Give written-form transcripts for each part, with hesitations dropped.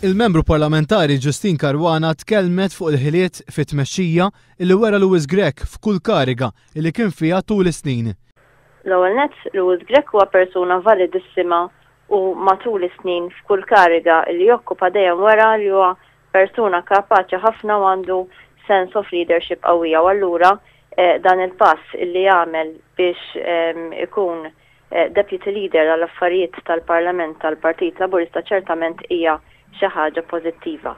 Il-Membru Parlamentari Justyne Caruana tkellmet fuq il-ħiliet fit-tmexxija illi wera Louis Grech f'kull kariga illi kien fiha tul is-snin. L-ewwel nett, Louis Grech huwa persuna validissima u matul is-snin f'kull kariga illi jokkupa dejjem wera li huwa persuna kapaċi ħafna u għandu sense of leadership qawwija u allura dan il-pass illi għamel biex ikun Deputy Leader għall-Affarijiet tal-Parlament tal-Partit Laburista ċertament hija xi ħaġa pożittiva.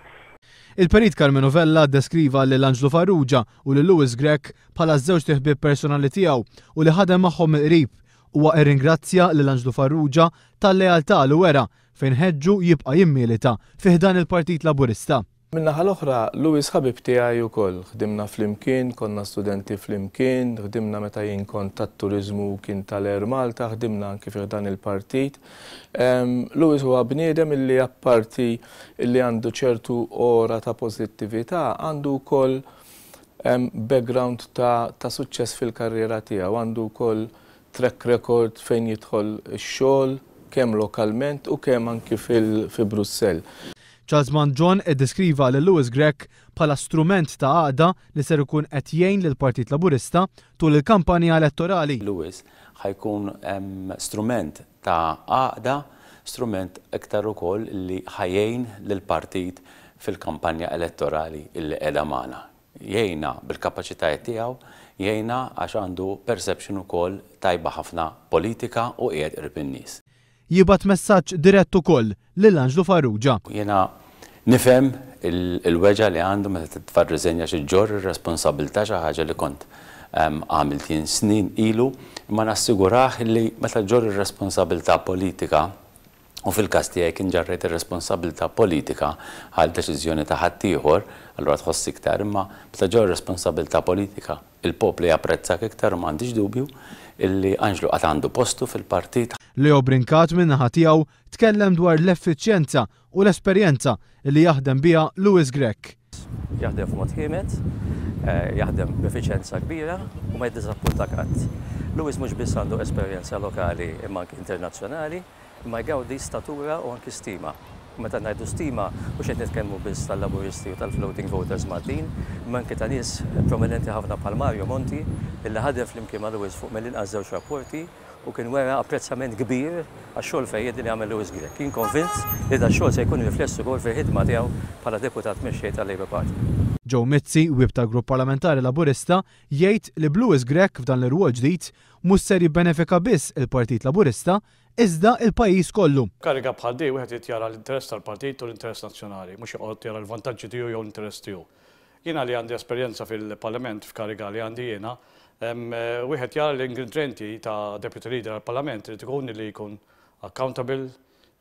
Il-Perit Karmenu Vella ddeskriva lil Anġlu Farrugia u lil Louis Grech bħala ż-żewġt iħbieb personali tiegħu u li ħadem magħhom mill-qrib. Huwa irringrazzja lil Anġlu Farrugia tal-lealtà li wera fejn ħeġġu jibqa' jimmilita fi ħdan il-Partit Laburista. Min-naħa l-oħra, Louis ħabib tiegħi wkoll. Ħdimna flimkien, konna studenti flimkien, ħdimna meta jien kont tat-turiżmu u kien tal-Air Malta, ħdimna anki fi ħdan il-partit. Louis huwa bniedem illi apparti illi għandu ċertu ora ta' pożittività, għandu wkoll background ta' ta' suċċess fil-karriera tiegħu, għandu wkoll track record fejn jidħol ix-xogħol kemm lokalment u kemm anki fil fi Brussell. Charles Mangion iddeskriva lil Louis Grech bħala strument ta' għaqda li ser ikun qed jgħin lill-Partit Laburista tul il-kampanja elettorali. Louis ħa jkun strument ta' għaqda, strument iktar ukoll li ħa jgħin lill-partit fil-kampanja elettorali li qiegħda magħna. Jgħinna bil-kapaċitajiet tiegħu, jgħinna għax għandu perception ukoll tajba ħafna politika u qiegħed qrib in-nies. Jibgħat messaġġ dirett ukoll lil Anġlu Farrugia. Jiena nifhem il-weġgħa li għandu meta titfa' r-riżenja għax iġġorr ir-responsabbiltà xi ħaġa li kont għamilt jien snin ilu, imma nassigurah li meta ġġorr ir-responsabbiltà politika, u fil-każ tiegħi kien ġarrejt ir-responsabbiltà politika għal deċiżjoni ta' ħaddieħor, allura tħoss iktar, imma meta ġġorr responsabbiltà politika, il-poplu japprezzak iktar u m'għandix dubju illi Anġlu għad għandu postu fil-partit. Leo Brincat min-naħa tiegħu tkellem dwar l-effiċjenza u l-esperjenza li jaħdem biha Louis Grech. Jaħdem f'mod ħiemed, jaħdem b'effiċjenza kbira u ma jiddiżappuntak qatt. Louis mhux biss għandu esperjenza lokali imma anki internazzjonali. Imma jgawdi statura u anki stima. U meta ngħidu stima, mhux qed nitkellmu biss tal-Laburisti u tal-floating voters Maltin, imma anki ta' nies prominenti ħafna bħal Mario Monti, illi ħadem flimkien ma' Louis fuq mill-inqas żewġ rapporti u kien wera apprezzament kbir għax-xogħol fejjiedi li għamel Louis Grech. Jien konvint li dax-xogħol se jkun rifless ukoll fil-ħidma tiegħu bħala Deputat Mexxej tal-Labour Party. Joe Mizzi, Whip tal-Grupp Parlamentari Laburista, jgħid li b'Louis Grech f'dan l-irwol ġdid mhux ser jibbenefika biss il-Partit Laburista iżda l-pajjiż kollu. Kariga bħal di wieħed irid jara l-interess tal-partit u l-interess nazzjonali, mhux joqgħod jara l-vantaġġi tiegħu jew l-interess tiegħu. Jiena li għandi esperjenza fil-Parlament f'kariga li għandi jiena, wieħed jara li l-ingredjenti ta' Deputy Leader għall-Parlament irid ikun li jkun accountable,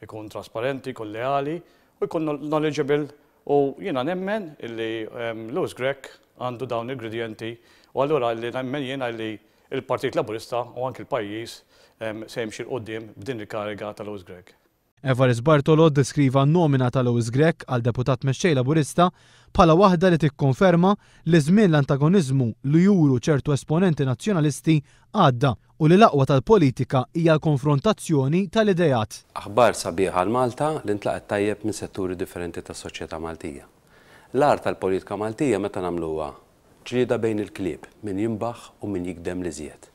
ikun trasparenti, ikun leali u jkun knowledgeable u jiena nemmen illi Louis Grech għandu dawn l-ingredjenti u allura li nemmen jiena li l-Partit Laburista u anki l-pajjiż se jimxi 'l quddiem b'din il-kariga ta' Louis Grech. Evarist Bartolo ddeskriva n-nomina ta' Louis Grech għal Deputat Mexxej Laburista bħala waħda li tikkonferma li żmien l-antagoniżmu li juru ċertu esponenti Nazzjonalisti għadda u li l-aqwa tal-politika hija l-konfrontazzjoni tal-ideat. Aħbar sabiħa għal Malta li ntlaqgħet tajjeb minn setturi differenti tas-soċjetà Maltija. L-agħar tal-politika Maltija meta nagħmluha Ġlieda bejn il-klieb, min jinbaħ u min jigdem l-iżjed.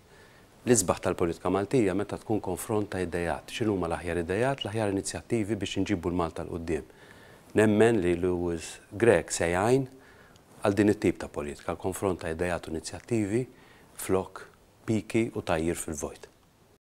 L-isbaħ tal-politika Maltija meta tkun konfront ta' ideat, x'inhuma l-aħjar ideat, l-aħjar inizjattivi biex inġibu 'l Malta 'l quddiem. Nemmen li Louis Grech se jgħin għal din it-tip ta' politika, l-konfront ta' ideat u inizjattivi flok piki u tgħajjir fil-vojt.